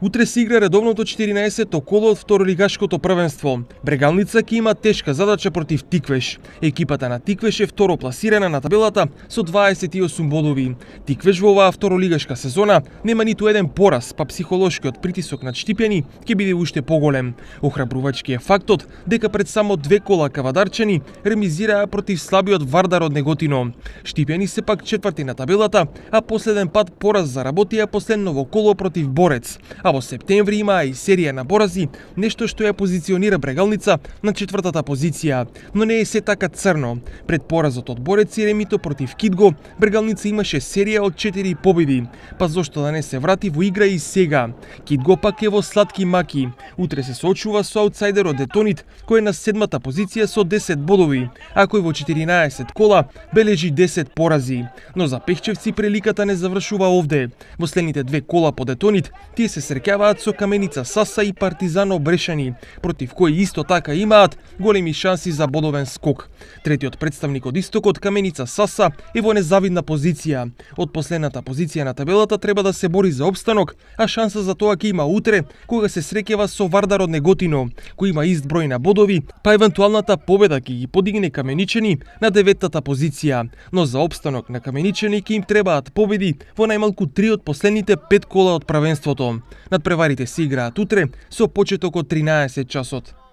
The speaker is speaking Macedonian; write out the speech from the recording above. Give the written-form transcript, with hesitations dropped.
Утре се игра редовното 14-то коло од второлигашкото првенство. Брегалница ќе има тешка задача против Тиквеш. Екипата на Тиквеш е второ пласирана на табелата со 28 бодови. Тиквеш во оваа второлигашка сезона нема ниту еден пораз, па психолошкиот притисок над Штипјани ќе биде уште поголем. Охрабрувачки е фактот дека пред само 2 кола кавадарчани ремизираа против слабиот Вардар од Неготино. Штипјани се пак четврти на табелата, а последен пат пораз заработија последно во коло против Борец. А во септември имаа и серија на порази, нешто што ја позиционира Брегалница на четвртата позиција, но не е се така црно. Пред поразот од Борец и ремито против Кидго, Брегалница имаше серија од 4 победи, па зошто да не се врати во игра и сега. Кидго пак е во сладки маки. Утре се соочува со аутсайдерот Детонит, кој е на 7-та позиција со 10 бодови, а кој во 14 кола бележи 10 порази. Но за Пехчевци приликата не завршува овде. Во следните 2 кола по Детонит, тие се среќаваат со Каменица Саса и Партизано Брешани, против кои исто така имаат големи шанси за бодовен скок. Третиот представник од истокот, Каменица Саса, е во незавидна позиција. Од последната позиција на табелата треба да се бори за опстанок, а шанса за тоа ќе има утре, кога се среќава со Вардар од Неготино, кој има ист број на бодови, па евентуалната победа ќе ги подигне Каменичани на 9-та позиција. Но за опстанок на Каменичани ќе им требаат победи во најмалку 3 од последните 5 кола од првенството. Надпреварите се играат утре со почеток од 13 часот.